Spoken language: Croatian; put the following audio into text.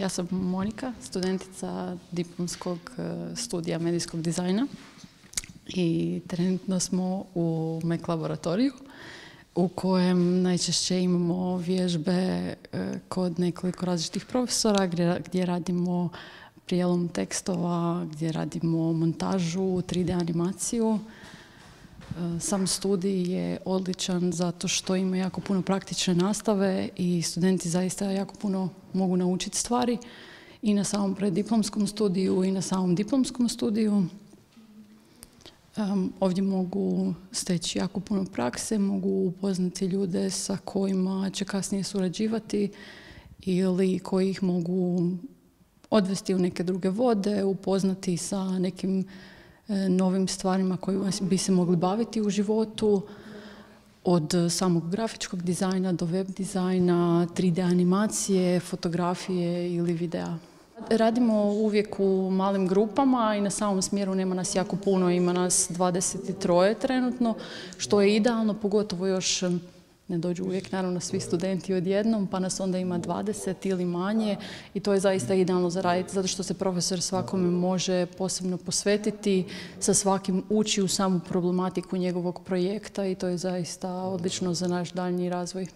Ja sam Monika, studentica diplomskog studija medijskog dizajna i trenutno smo u MEC laboratoriju u kojem najčešće imamo vježbe kod nekoliko različitih profesora gdje radimo prijelom tekstova, gdje radimo montažu, 3D animaciju. Sam studij je odličan zato što ima jako puno praktične nastave i studenti zaista jako puno mogu naučiti stvari i na samom preddiplomskom studiju i na samom diplomskom studiju. Ovdje mogu steći jako puno prakse, mogu upoznati ljude sa kojima će kasnije surađivati ili koji ih mogu odvesti u neke druge vode, upoznati sa nekim novim stvarima kojima bi se mogli baviti u životu, od samog grafičkog dizajna do web dizajna, 3D animacije, fotografije ili videa. Radimo uvijek u malim grupama i na samom smjeru nema nas jako puno, ima nas 23 trenutno, što je idealno, pogotovo još ne dođu uvijek naravno svi studenti odjednom, pa nas onda ima 20 ili manje i to je zaista idealno za raditi, zato što se profesor svakome može posebno posvetiti, sa svakim uči u samu problematiku njegovog projekta i to je zaista odlično za naš daljnji razvoj.